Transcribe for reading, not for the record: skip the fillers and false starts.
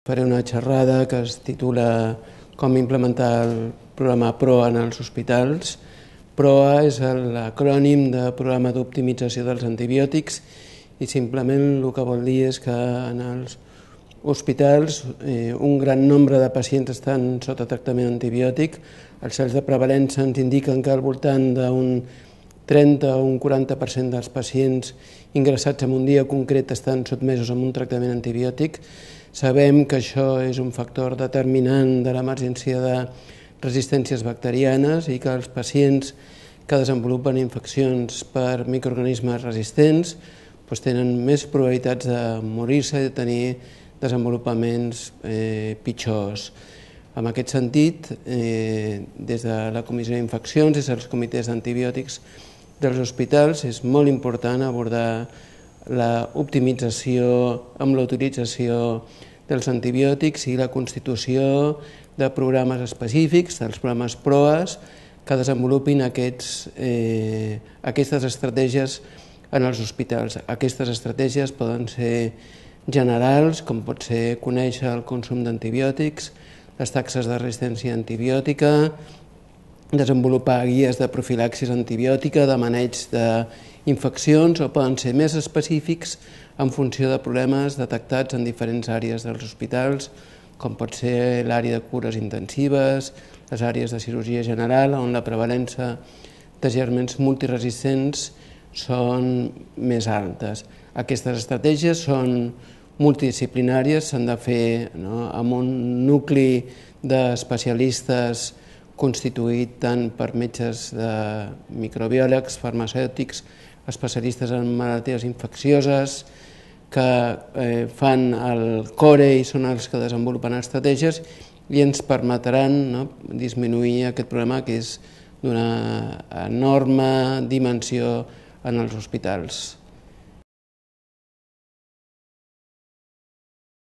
Faré una xerrada que es titula Com implementar el programa PROA en els hospitals. PROA és l'acrònim de Programa d'Optimització dels Antibiòtics i simplement el que vol dir és que en els hospitals un gran nombre de pacients estan sota tractament antibiòtic. Els cells de prevalença ens indiquen que al voltant d'un 30 o un 40% dels pacients ingressats en un dia concret estan sotmesos a un tractament antibiòtic. Sabem que això és un factor determinant de l'emergència de resistències bacterianes i que els pacients que desenvolupen infeccions per microorganismes resistents tenen més probabilitats de morir-se i de tenir desenvolupaments pitjors. En aquest sentit, des de la Comissió d'Infeccions, des dels comitès d'antibiòtics dels hospitals, és molt important abordar l'optimització amb l'utilització dels antibiòtics i la constitució de programes específics, dels programes PROAs, que desenvolupin aquestes estratègies en els hospitals. Aquestes estratègies poden ser generals, com pot ser conèixer el consum d'antibiòtics, les taxes de resistència antibiòtica, desenvolupar guies de profilaxis antibiòtica, de maneig d'infeccions, o poden ser més específics en funció de problemes detectats en diferents àrees dels hospitals, com pot ser l'àrea de cures intensives, les àrees de cirurgia general, on la prevalença de gèrmens multiresistents són més altes. Aquestes estratègies són multidisciplinàries, s'han de fer amb un nucli d'especialistes constituït tant per metges de microbiòlegs, farmacèutics, especialistes en malalties infeccioses, que fan el core i són els que desenvolupen estratègies i ens permetran disminuir aquest problema que és d'una enorme dimensió en els hospitals.